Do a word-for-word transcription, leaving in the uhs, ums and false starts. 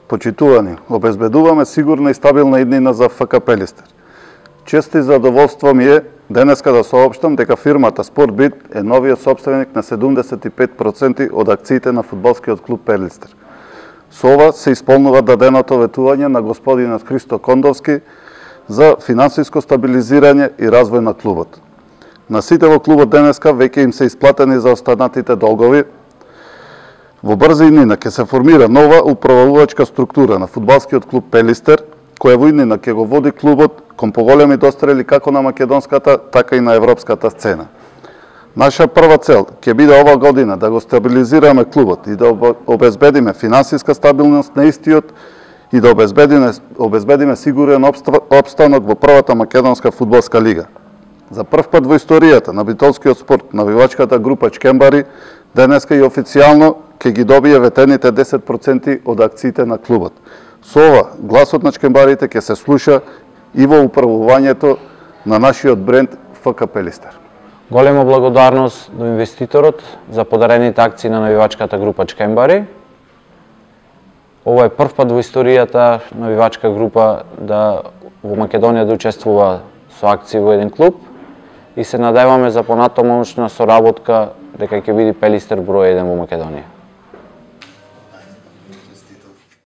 Почитувани, обезбедуваме сигурна и стабилна иднина за ФК Пелистер. Чест и задоволство ми е денеска да соопштам дека фирмата Спортбит е новиот сопственик на седумдесет и пет проценти од акциите на фудбалскиот клуб Пелистер. Со ова се исполнува даденото ветување на господинот Христо Кондовски за финансиско стабилизирање и развој на клубот. На сите во клубот денеска веќе им се исплатени за останатите долгови. Во брза иднина ќе се формира нова управувачка структура на фудбалскиот клуб Пелистер, која во иднина ќе го води клубот кон поголеми дострели како на македонската, така и на европската сцена. Наша прва цел ќе биде ова година да го стабилизираме клубот и да обезбедиме финансиска стабилност на истиот и да обезбедиме, обезбедиме сигурен опстанок во првата македонска фудбалска лига. За прв пат во историјата на битолскиот спорт, навивачката група Чкембари денеска и официјално ќе ги добие ветените десет проценти од акциите на клубот. Со ова, гласот на чкембарите ќе се слуша и во управувањето на нашиот бренд ФК Пелистер. Голема благодарност до инвеститорот за подарените акции на навивачката група Чкембари. Ова е прв пат во историјата навивачка група да во Македонија да учествува со акции во еден клуб и се надеваме за понатамошна соработка дека ќе биде Пелистер број еден во Македонија.